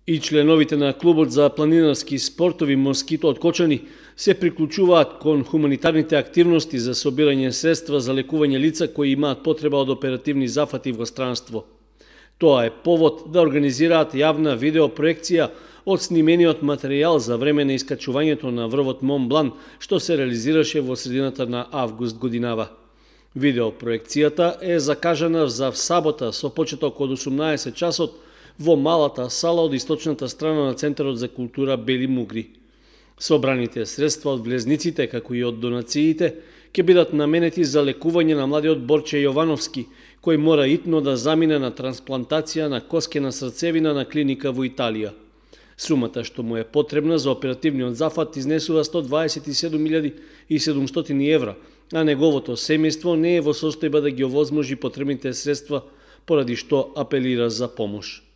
И членовите на клубот за планинарски спортови Москито од Кочани се приклучуваат кон хуманитарните активности за собирање средства за лекување лица кои имаат потреба од оперативни зафати во странство. Тоа е повод да организираат јавна видеопроекција од снимениот материјал за време на искачувањето на врвот Мон Блан, што се реализираше во средината на август годинава. Видеопроекцијата е закажана за сабота со почеток од 18 часот во малата сала од источната страна на Центарот за култура Бели Мугри. Собраните средства од влезниците, како и од донациите, ќе бидат наменети за лекување на младиот Борче Јовановски, кој мора итно да замине на трансплантација на коскена срцевина на клиника во Италија. Сумата што му е потребна за оперативниот зафат изнесува 127.700 евра, а неговото семејство не е во состојба да ги овозможи потребните средства, поради што апелира за помош.